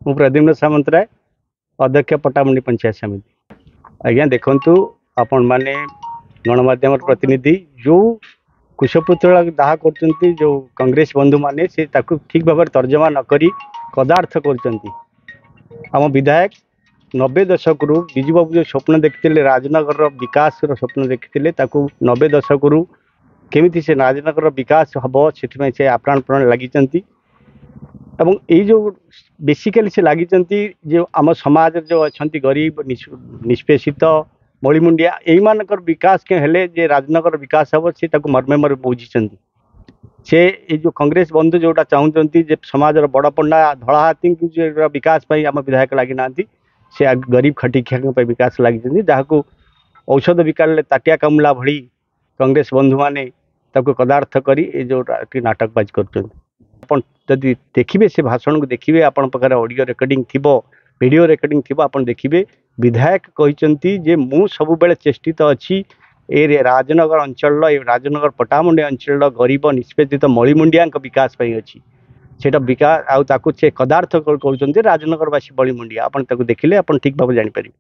ମୁଁ ପ୍ରଦ୍ୟୁମ୍ନ ସାମନ୍ତରାୟ, ଅଧ୍ୟକ୍ଷ, ପଟ୍ଟାମୁଣ୍ଡି ପଞ୍ଚାୟତ ସମିତି। ଆଜ୍ଞା ଦେଖନ୍ତୁ, ଆପଣମାନେ ଗଣମାଧ୍ୟମର ପ୍ରତିନିଧି, ଯେଉଁ କୁଶପୁତ୍ତଳିକା ଦାହ କରୁଛନ୍ତି ଯେଉଁ କଂଗ୍ରେସ ବନ୍ଧୁମାନେ, ସେ ତାକୁ ଠିକ୍ ଭାବରେ ତର୍ଜମା ନ କରି କଦାର୍ଥ କରୁଛନ୍ତି। ଆମ ବିଧାୟକ 90 ଦଶକରୁ ବିଜୁବାବୁ ଯେଉଁ ସ୍ୱପ୍ନ ଦେଖିଥିଲେ, ରାଜନଗରର ବିକାଶର ସ୍ୱପ୍ନ ଦେଖିଥିଲେ, ତାକୁ 90 ଦଶକରୁ କେମିତି ସେ ରାଜନଗରର ବିକାଶ ହେବ ସେଥିପାଇଁ ସେ ଆପ୍ରାଣପ୍ରାଣ ଲାଗିଛନ୍ତି। ଏବଂ ଏଇ ଯେଉଁ ବେସିକାଲି ସେ ଲାଗିଛନ୍ତି, ଯେଉଁ ଆମ ସମାଜରେ ଯେଉଁ ଅଛନ୍ତି ଗରିବ, ନିଷ୍ପେଷିତ, ମଳିମୁଣ୍ଡିଆ, ଏଇମାନଙ୍କର ବିକାଶ ହେଲେ ଯେ ରାଜନଗର ବିକାଶ ହେବ, ସେ ତାକୁ ମର୍ମେ ମର୍ମେ ବୁଝିଛନ୍ତି। ସେ ଏଇ ଯେଉଁ କଂଗ୍ରେସ ବନ୍ଧୁ ଯେଉଁଟା ଚାହୁଁଛନ୍ତି ଯେ ସମାଜର ବଡ଼ ପଣ୍ଡା ଧଳା ହାତୀଙ୍କୁ ଯେଉଁ ବିକାଶ ପାଇଁ ଆମ ବିଧାୟକ ଲାଗିନାହାନ୍ତି, ସେ ଗରିବ ଖଟିଖିଆଙ୍କ ପାଇଁ ବିକାଶ ଲାଗିଛନ୍ତି, ଯାହାକୁ ଔଷଧ ବିକାଳରେ ତାଟିଆ କାମୁଲା ଭଳି କଂଗ୍ରେସ ବନ୍ଧୁମାନେ ତାକୁ କଦାର୍ଥ କରି ଏ ଯେଉଁ ନାଟକବାଜି କରୁଛନ୍ତି। ଆପଣ ଯଦି ଦେଖିବେ, ସେ ଭାଷଣକୁ ଦେଖିବେ, ଆପଣଙ୍କ ପାଖରେ ଅଡ଼ିଓ ରେକର୍ଡ଼ିଂ ଥିବ, ଭିଡ଼ିଓ ରେକର୍ଡ଼ିଂ ଥିବ, ଆପଣ ଦେଖିବେ ବିଧାୟକ କହିଛନ୍ତି ଯେ ମୁଁ ସବୁବେଳେ ଚେଷ୍ଟିତ ଅଛି ଏ ରାଜନଗର ଅଞ୍ଚଳର, ଏ ରାଜନଗର ପଟ୍ଟାମୁଣ୍ଡି ଅଞ୍ଚଳର ଗରିବ ନିଷ୍ପେଷିତ ମଳିମୁଣ୍ଡିଆଙ୍କ ବିକାଶ ପାଇଁ ଅଛି। ସେଇଟା ବିକାଶ ଆଉ ତାକୁ ସେ କଦାର୍ଥ କହୁଛନ୍ତି ରାଜନଗରବାସୀ ବଳିମୁଣ୍ଡିଆ। ଆପଣ ତାକୁ ଦେଖିଲେ ଆପଣ ଠିକ୍ ଭାବରେ ଜାଣିପାରିବେ।